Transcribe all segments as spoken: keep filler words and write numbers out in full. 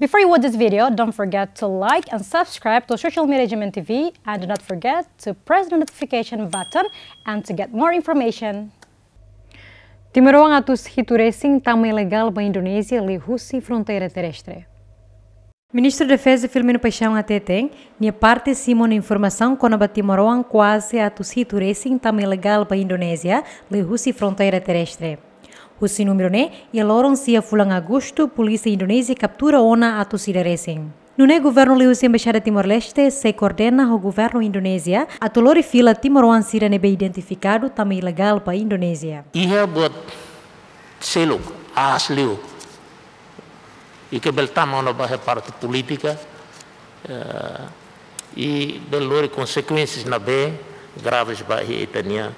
Before you watch this video, don't forget to like and subscribe to social media G M N T V, and do not forget to press the notification button and to get more information. Timoroan atus hitu resin tama ilegál ba Indonézia liuhusi fronteira terrestre. Ministru Defeza Filomeno Paixão hateten, nia parte simu ona informasaun kona-ba timoroan kuaze atus hitu resin tama ilegál ba Indonézia liuhusi fronteira terrestre. Husi númeru ne'e, iha loron sia fulan Agostu, polísia Indonézia kaptura ona atus ida resin. Nune'e governu liuhusi Embaixada Timor-Leste sei koordena ho governu Indonézia atu lori fila timoroan sira ne'ebé identifikadu tama ilegál ba Indonézia. Iha buat seluk, aas liu. I ke bele tama ona ba iha parte polítika, eh, i bele lori konsekuénsias ne'ebé graves ba iha ita-nia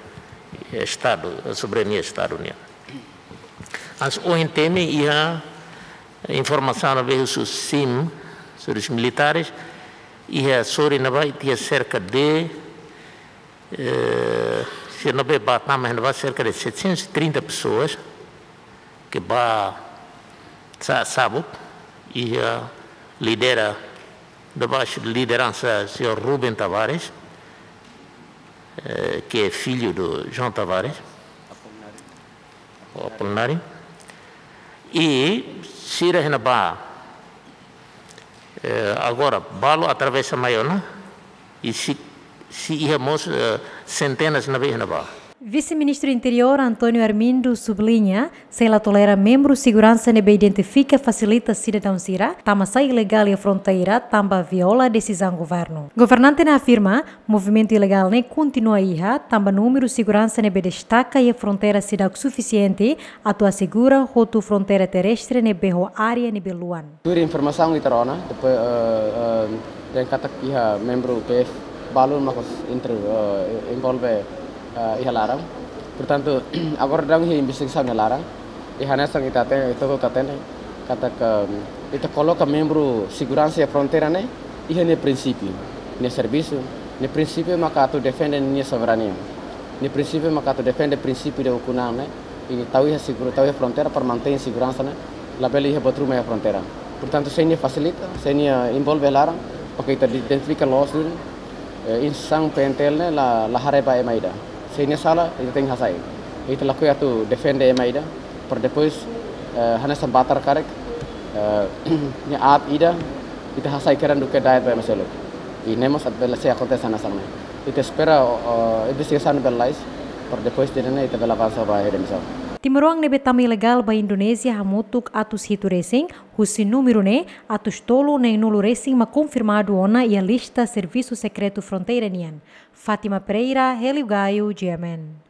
estadu, soberania estadu nian. Hanesan ohin temi iha informasaun ne'ebé husu SIM, Serviços Militares, iha sorin ne'ebá iha cerca de, eh, se ne'ebé ba tama iha ne'ebá cerca de setecentas e trinta pessoas, ke ba sa-, sabut, iha lidera, debaixo de liderança senhor Rubem Tavares, eh, que é filho do João Tavares, o Apolinário. I sira iha ne'ebá, eh, agora, balu atravesa mai ona, i sei, sei iha mós, eh, sentenas ne'ebé iha ne'ebá. Vise-Ministru Interiór António Armindo subliña, sei la tolera membru seguransa ne'ebé identifika fasilita sidadaun sira tama sai ilegál iha fronteira tanba viola desizaun governu. Governante ne'e afirma, movimentu ilegál ne'e kontinua iha, tanba númeru seguransa ne'ebé destaka iha fronteira seidauk sufisiente atu asegura hotu fronteira terrestre ne'ebé ho área ne'ebé luan. Tuir informasaun ita rona, depois, eh, eh, dehan katak iha membru P F balu mak entre, eh, envolve, eh, iha laran. Portantu, agora daudaun iha investigasaun iha laran. I hanesan ita te-, ita hotu hatene, katak ita koloka membru seguransa iha fronteira ne'e, iha nia prinsípiu, nia servisu, nia prinsípiu maka atu defende nia soberania. Nia prinsípiu maka atu defende prinsípiu de ukun-an ne'e, i tau iha seguru, tau iha fronteira para mantein seguransa ne'e, labele iha buat ruma iha fronteira. Portantu, se nia fasilita, se nia envolve laran, oke, ita di-, identifika loos duni, eh, instituisaun P N T L ne'e la, la haree ba ema ida. Se nia sala, ita tenke hasai. Ita lakohi atu defende ema ida, para depois, eh, hanesan batar karik, eh, nia aat ida, ita hasai kedan duké da'et ba ema seluk. I ne'e mós atu bele sei akontese hanesan ne'e. Ita espera, eh, investigasaun bele lalais, para depois de ne'e ita bele avansa ba iha demisaun. Timoroan ne'ebé tama ilegál ba Indonézia hamutuk atus hitu resin, husi númeru ne'e, atus tolu neen-nulu resin mak konfirmadu ona iha lista Servisu Sekretu Fronteira nian. Fátima Pereira, Hélio Gaio, G M N.